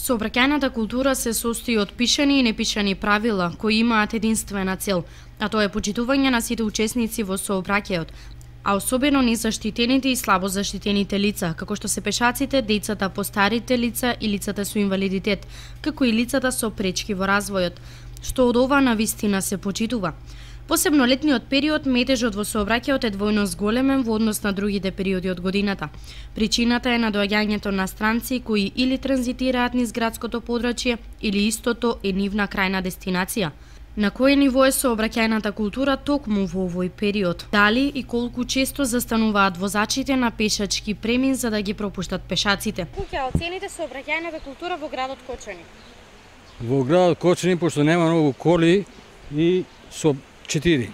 Сообраќајната култура се состои од пишани и непишани правила кои имаат единствена цел, а тоа е почитување на сите учесници во сообраќајот, а особено незаштитените и слабо заштитените лица, како што се пешаците, децата, постарите лица и лицата со инвалидитет, како и лицата со пречки во развојот, што од ова навистина се почитува. Посебно летниот период, метежот во сообраќајот е двојно зголемен во однос на другите периоди од годината. Причината е на доаѓањето на странци кои или транзитираат низ градското подрачје, или истото е нивна крајна дестинација. На кое ниво е сообраќајната култура токму во овој период? Дали и колку често застануваат возачите на пешачки премин за да ги пропуштат пешаците? Како ќе оцените сообраќајната култура во градот Кочани? Во градот Кочани, пошто нема многу коли и со 4.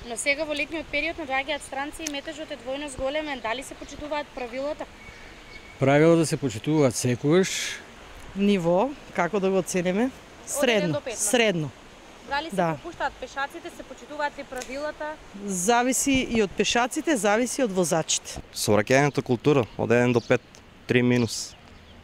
Но сега во летниот период надоаѓаат странци и метежот е двојно зголемен. Дали се почитуваат правилата? Правилата се почитуваат секогаш. Ниво, како да го оцениме? Средно. Средно. Дали се пропуштаат пешаците, се почитуваат ли правилата? Зависи и од пешаците, зависи од возачите. Сообраќајната култура од 1 до 5, 3 минус.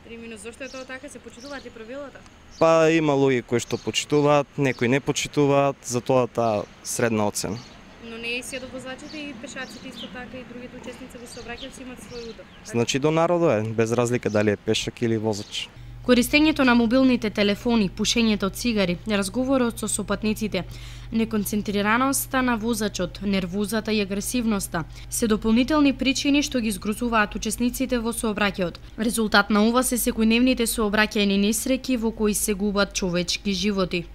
3 минус, зошто е тоа така? Се почитуваат ли правилата? Па има луѓе кои што почитуваат, некои не почитуваат, затоа таа средна оцена. Но не и се до возачите и пешаците исто така и другите учесници во сообраќајот имаат свој удов. Значи до народот е, без разлика дали е пешак или возач. Користењето на мобилните телефони, пушењето од цигари, разговорот со сопатниците, неконцентрираноста на возачот, нервозата и агресивноста се дополнителни причини што ги згрозуваат учесниците во сообраќајот. Резултат на ова се секојдневните сообраќајни несреќи во кои се губат човечки животи.